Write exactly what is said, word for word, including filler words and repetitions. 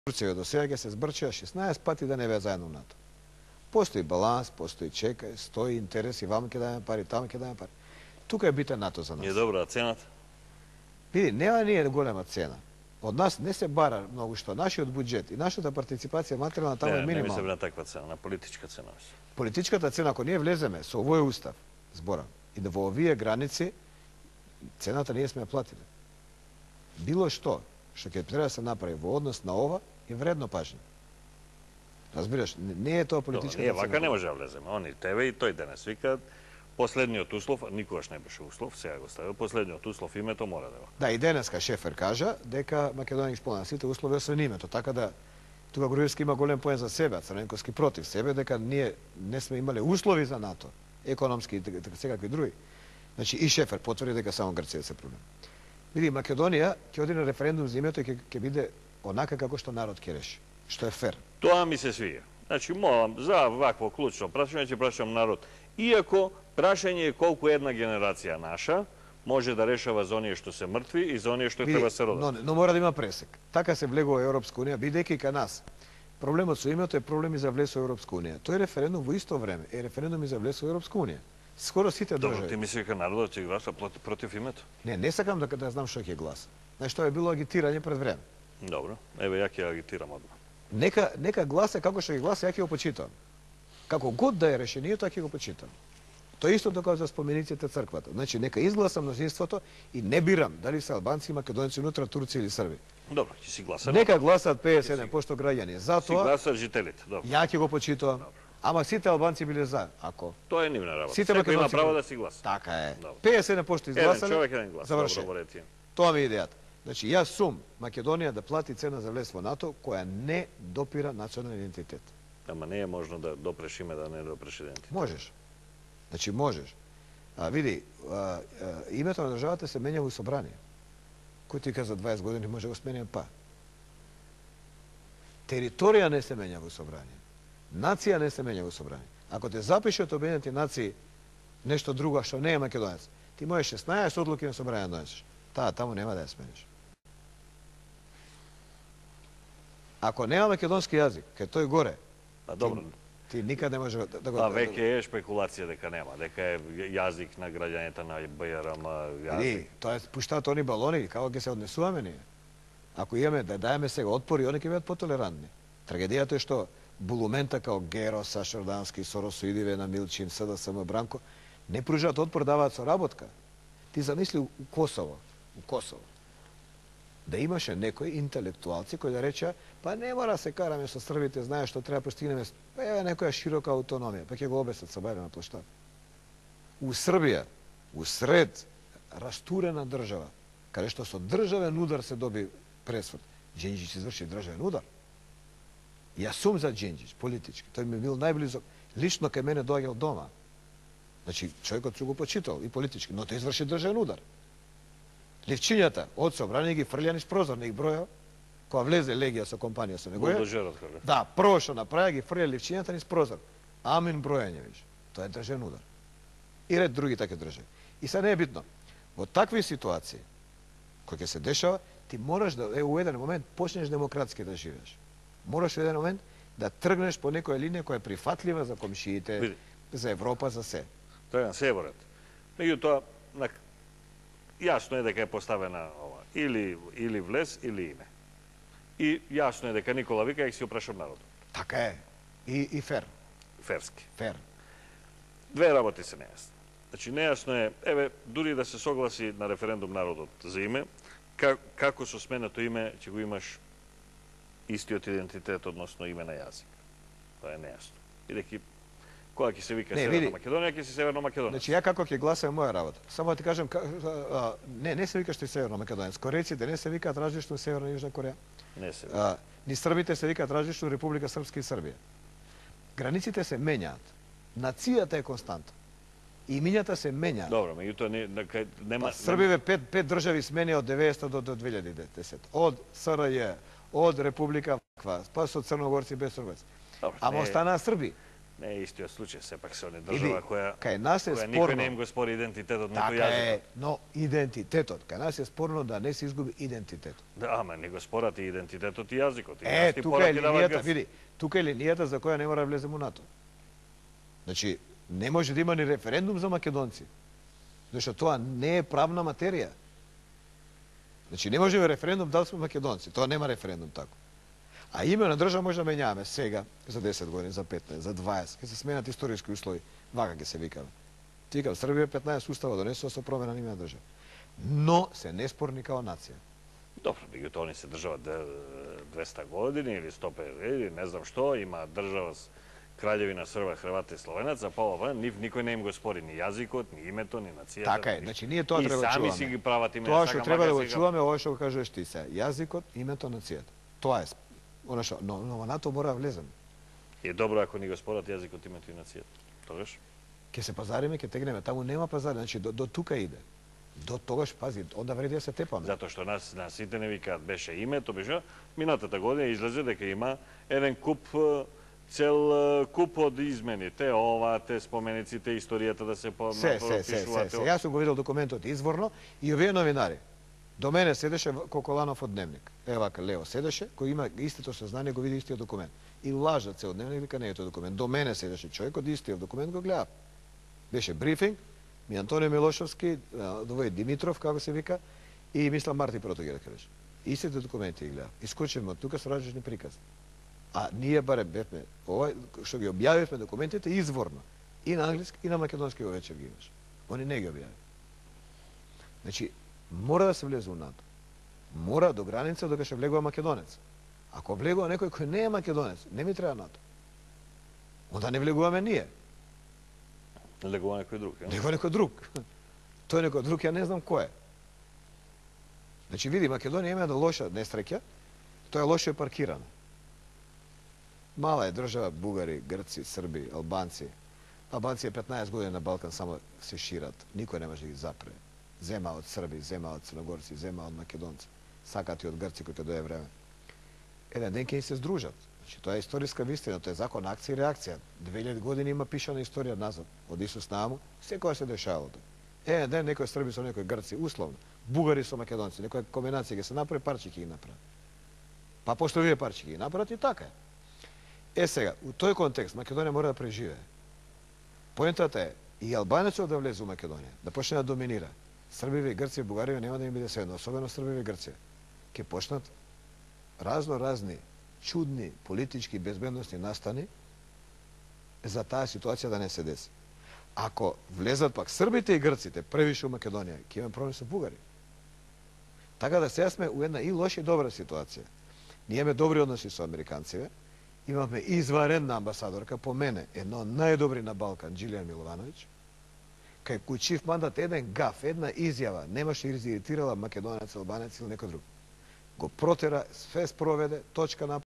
Турција до сега ќе се збрча шеснаесет пати да не беа заедно НАТО. Постои баланс, постои чека, стои интереси, ваму ќе дајаме пари, таму ќе дајаме пари. Тука е битен НАТО за нас. Не е добра, а цената? Види, нема ние голема цена. Од нас не се бара многу што. Нашиот буџет и нашата партиципација материјална таму е Не, не минимална. мислам на таква цена, на политичка цена. Политичката цена, ако ние влеземе со овој устав, зборам, и да во овие граници, цената ние сме ја платили. Било што, што ќе треба да се направи во однос на ова, е вредно пажње. Разбираш, не е тоа политичката цена. цена. Ние вака не може да влеземе. Они тебе и тој денес вика, последниот услов, никогаш не беше услов, сега го ставил, последниот услов името мора да го. Да, и денеска Шефер кажа дека Македонија исполнува сите услови освен името, така да тука Груевски има голем поен за себе, а Црненковски против себе, дека ние не сме имале услови за НАТО, економски и така секакви други. Значи и Шефер потврди дека само Грција се проблем. Види, Македонија ќе оди на референдум за името и ќе ќе биде онака како што народ ќе реши, што е фер. Тоа ми се свија. Значи, молам, за вакво клучно прашање ќе прашам народ. Иако прашање е колку една генерација наша може да решава за оние што се мртви и за оние што треба се родат. Но, но мора да има пресек. Така се влегува Европска унија, бидејќи кај нас. Проблемот со името е проблем и за влез во Европска унија. Тој референдум во исто време е референдум и за влез во Европска унија. Скоро сите држави. Добро, ти мислиш дека народот ќе гласа против името? Не, не сакам да, да знам што ќе гласа. Знаеш, тоа е било агитирање пред време. Добро, еве ја ќе агитирам одма. Нека нека гласа како што ќе гласа, ја ќе го почитам. Како год да е решението, ја ќе го почитам. Тоа исто така за спомениците црквата. Значи нека изгласа мнозинството и не бирам дали се албанци, македонци, унутра турци или срби. Добро, ќе си гласам. Нека гласат педесет и седум проценти граѓани. Затоа си гласат жителите, добро. Ја ќе го почитувам. Ама сите албанци биле за, ако. Тоа е нивна работа. Сите Секој има македонци право биле- да си гласа. Така е. Добро. педесет и седум проценти Еден изгласале. човек, еден глас. Завршено. Добро, ворете. Тоа ми е идејата. Значи, јас сум Македонија да плати цена за влез во НАТО која не допира национален идентитет. Ама не е можно да допреш име, да не допреш идентитет. Можеш. Значи, можеш. А, види, а, а, името на државата се менја во собрание. Кој ти каза дваесет години може да го сменим па. Територија не се менја во собрание. Нација не се менја во собрание. Ако те запише од Обединените нации нешто друго што не е македонец, ти можеш шеснаесет одлуки на собрание да донесеш. Таа таму нема да ја смениш. Ако нема македонски јазик, кај тој горе, А добро. ти никаде не може да, да го... А веќе е шпекулација дека нема, дека е јазик на граѓаните на БРМ јазик. Иди, тоа е пуштаат они балони, како ќе се однесуваме ние. Ако имаме да даеме сега отпори, они ќе бидат потолерантни. Трагедијата е што булумента као Геро, Сашардански, Соросоидиве на Милчин, СДСМ, Бранко, не пружаат отпор, даваат соработка. Ти замисли у Косово, у Косово, да имаше некои интелектуалци кои да речеа, па не мора се караме со србите, знаеш што треба постигнеме, па еве некоја широка аутономија, па ќе го обесат со бајле на площад. У Србија, у сред растурена држава, каде што со државен удар се доби пресвод, Џенџич изврши државен удар. Јас сум за Џенџич, политички, тој ми бил најблизок, лично кај мене доаѓал дома. Значи, човекот су го почитал и политички, но тој изврши државен удар. Левчињата од собрание ги фрлја низ прозор, не ги броја, кога влезе Легија со компанија со него. Булдожерот како. Да, прво што направи ги фрлја левчињата низ прозор. Амин бројање виж. Тоа е државен удар. И ред други такви држави. И сега не е битно. Во такви ситуации кои ќе се дешава, ти мораш да е у еден момент почнеш демократски да живееш. Мораш во еден момент да тргнеш по некоја линија која е прифатлива за комшиите, Види. за Европа, за се. Тоа е на северот. Меѓутоа, на... јасно е дека е поставена ова, или, или влез, или име. И јасно е дека Никола вика, ќе си опрашам народот. Така е. И, и фер. Ферски. Фер. Две работи се нејасни. Значи, нејасно е, еве, дури да се согласи на референдум народот за име, как, како со сменето име ќе го имаш истиот идентитет, односно име на јазик. Тоа е нејасно. Бидејќи кога ќе се вика Не, Северна види. Македонија, ќе си Северна Македонија. Значи, ја како ќе гласам моја работа. Само да ти кажам, ка- а, не, не се викаш ти Северно Македонец. Кореците не се викаат различно Северна и Јужна Кореја. Не се. А, ни србите се викаат различно Република Српска и Србија. Границите се менјаат. Нацијата е константа. Имињата се менјаат. Добро, меѓутоа не, не, кај- нема... Па, Србиве пет, пет држави смени од деветдесета до, до две илјади и десета. Од СРЈ, од Република Ваква, па со црногорци без србаци. Добро, Ама не- останаа Срби. Не е истиот случај, сепак се они држава која, кај нас е која спорно. никој не им го спори идентитетот, ниту Така јазикот. е, но идентитетот. Кај нас е спорно да не се изгуби идентитетот. Да, ама не го спорат и идентитетот и јазикот. И Е, нас ти тука е пораки дават линијата, грц. види, тука е линијата за која не мора да влеземе у НАТО. Значи, не може да има ни референдум за македонци. Зашто тоа не е правна материја. Значи, не може да има референдум дали сме македонци. Тоа нема референдум тако. А име на држава може да менјаваме сега, за десет години, за петнаесет, за дваесет, ќе се сменат историски услови. Вака ќе се викаме. Ти викам, Србија петнаесет устава донесува со промена на име на држава. Но се неспорни као нација. Добро, меѓутоа они се држава двеста години или сто петдесет или не знам што, има држава с краљевина Срба, Хрвати и Словенаца, па ова, нив никој не им го спори ни јазикот, ни името, ни нацијата. Така е, ни... значи ние тоа и треба да сами чуваме. си ги прават име. Тоа што треба да го сега... чуваме, ова што го кажуваш ти се. Јазикот, името, нацијата. Тоа е она што, но, но во НАТО мора да влеземе. И е добро ако ни го спорат јазикот, името и нацијата. Тогаш? Ќе се пазариме, ќе тегнеме, таму нема пазари, значи до, до тука иде. До тогаш, пази, онда вреди да се тепаме. Затоа што нас, нас сите не викаат беше името, беше, минатата година излезе дека има еден куп, цел куп од измени. Те ова, те споменици, те историјата да се по Се, се, се, се, се. Јас сум го видел документот изворно и овие новинари. До мене седеше Коколанов од Дневник. Е вака, Лео седеше, кој има истото сознание, го види истиот документ. И лажат се од Дневник, вика не е тој документ. До мене седеше човек од истиот документ, го гледа. Беше брифинг, ми Антонио Милошовски, довој Димитров, како се вика, и мислам Марти Протогер, кажеш. Истите документи ги гледа. Искочевме од тука со различни прикази. А ние баре бевме, ова што ги објавивме документите изворно. И на англиски, и на македонски во вечер ги имаш. Они не ги објави. Значи, мора да се влезе у НАТО. Мора до граница докато ќе влегува македонец. Ако влегува некој кој не е македонец, не ми треба НАТО. Онда не влегуваме ние. Влегува некој друг. Влегува некој друг. Тој некој друг, ја не знам кој е. Значи, види, Македонија има една лоша несреќа, тоа е лошо е паркирано. Мала е држава, бугари, грци, срби, албанци. Албанци е петнаесет години на Балкан само се шират. Никој не може да ги запре. Зема од срби, зема од црногорци, зема од македонци. Сакат и од грци кои ќе дое време. Еден ден ќе се здружат. Значи, тоа е историска вистина, тоа е закон акција и реакција. две илјади години има пишана историја назад, од Исус Нааму, секоја се дешавало тоа. Еден ден некој срби со некој грци, условно, бугари со македонци, некоја комбинација ќе се направи, парчи ќе ги направи. Па пошто вие парчи ќе ги направат и така е. Е сега, у тој контекст Македонија мора да преживее. Поентата е и албанецот да влезе у Македонија, да почне да доминира. Србиве и Грција и Бугарија нема да им биде седно, особено Србиве и Грција. Ке почнат разно разни чудни политички безбедностни настани за таа ситуација да не се деси. Ако влезат пак србите и грците превише у Македонија, ќе имаме проблем со бугари. Така да сега сме у една и лоша и добра ситуација. Ние имаме добри односи со американците, имаме изварена амбасадорка, по мене, едно од најдобри на Балкан, Джилијан Миловановиќ, кај кој чиф мандат еден гаф, една изјава, немаше изиритирала македонец, албанец или некој друг. Го протера, све спроведе, точка на